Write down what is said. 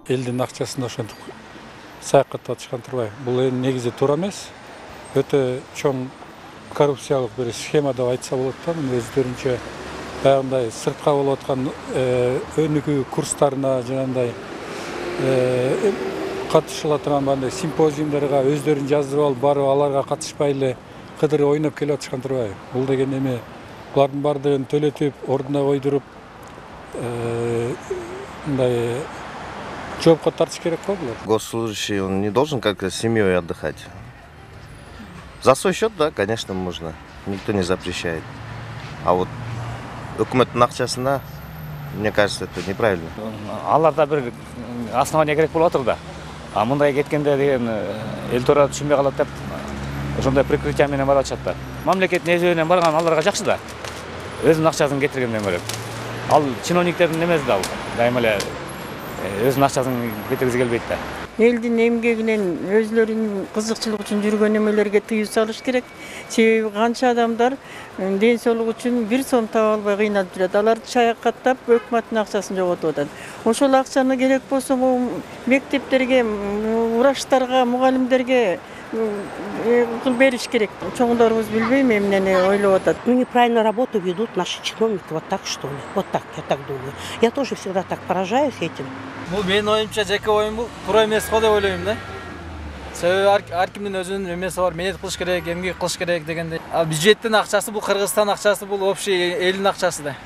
элдин акчасын ошентип саякатта атышкан турбайбы? Бул эми негизи туура эмес. Өтө чоң коррупциялык бир схема деп айтса болот да, өздөрүнчө баягындай сыртка болуп аткан өнүгүү курстарына жанагындай катышыла турган бандай симпозиумдарга өздөрүн жаздырып алып барып аларга катышпай эле кыдырып ойноп келип атышкан турбайбы? Бул деген эми булардын баардыгын төлөтүп, ордуна койдуруп мындай жоопко тартыш керек го булар. Госслужащий, он не должен как-то с семьей отдыхать. За свой счет, да, конечно, можно. Никто не запрещает. А вот өкмөттүн акчасына, мне кажется, это неправильно. Аларда бир основания керек болуп атыр да. А мындай кеткенде деген эл туура түшүнбөй калат деп ошондой прикрытие менен барып атышат да. Мамлекеттин эсебинен барган аларга жакшы да. Өзүнүн акчасын кетиргенден көрө. Ал чиновниктердин эмеси да, дайыма эле өзүнүн акчасын кетиргизи келбейт да. Элдин эмгегинен өзлөрүнүн кызыкчылык үчүн жүргөн эмелерге тыюу салыш керек. Себеби канча адамдар ден соолук үчүн бир сом таба албай кыйналып жүрөт. Аларды чаякаттап өкмөттүн акчасын жоготуп атат. Ошол акчаны керек болсо мектептерге, врачтарга, мугалимдерге бериш керек. Чоңдорубуз билбейм эмнени ойлоп атат. Ну, неправильно работу ведут наши чиновники, вот так что ли? Вот так, я так думаю. Я тоже всегда так поражаюсь этим. Бул менин оюмча жеке оюм бул туура эмес го деп ойлойм да. Себеби ар кимдин өзүнүн эмеси бар, мээнет кылыш керек, эмгек кылыш керек дегендей. Бюджеттин акчасы бул Кыргызстан акчасы, бул общий элдин акчасы да.